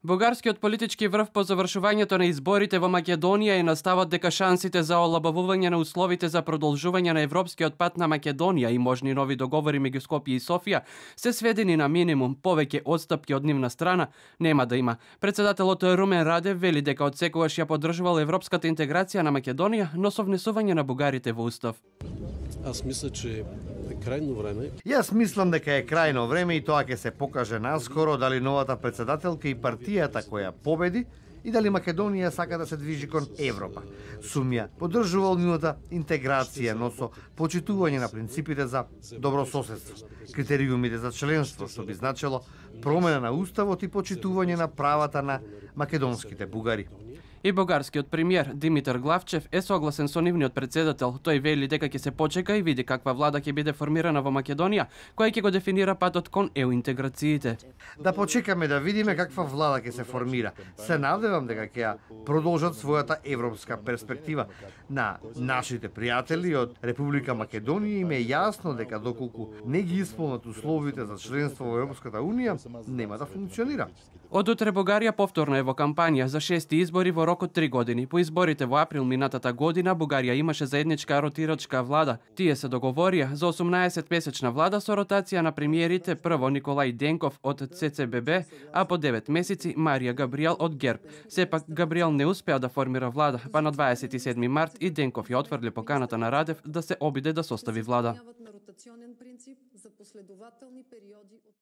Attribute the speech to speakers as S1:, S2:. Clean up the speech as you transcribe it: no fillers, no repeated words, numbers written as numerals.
S1: Бугарскиот политички врв по завршувањето на изборите во Македонија е на ставот дека шансите за олабавување на условите за продолжување на европскиот пат на Македонија и можни нови договори меѓу Скопје и Софија се сведени на минимум. Повеќе отстапки од нивна страна нема да има. Председателот Румен Радев вели дека отсекогаш ја поддржувал европската интеграција на Македонија, но со внесување на бугарите во устав.
S2: Аз мисля, че е крајно време.
S3: Јас мислам дека е крајно време и тоа ќе се покаже наскоро дали новата председателка и партијата која победи и дали Македонија сака да се движи кон Европа. Сум ја поддржувал нивната интеграција, но со почитување на принципите за добрососедство, критериумите за членство, што би значило промена на уставот и почитување на правата на македонските бугари.
S1: И бугарскиот премиер Димитар Главчев е согласен со нивниот председател. Тој вели дека ќе се почека и види каква влада ќе биде формирана во Македонија, која ќе го дефинира патот кон ЕУ интеграциите.
S3: Да почекаме да видиме каква влада ќе се формира. Се надевам дека ќе ја продолжат својата европска перспектива. На нашите пријатели од Република Македонија им е јасно дека доколку не ги исполнат условите за членство во Европската унија, нема да функционира.
S1: Од утре Бугарија повторно е во кампања за 6 избори во рок од 3 години. По изборите во април минатата година Бугарија имаше заедничка ротирачка влада. Тие се договорија за 18-месечна влада со ротација на премиерите, прво Николај Денков од ЦЦББ, а по 9 месеци Марија Габриел од ГЕРБ. Сепак Габриел не успеа да формира влада, па на 27 март и Денков ја отфрли поканата на Радев да се обиде да состави влада.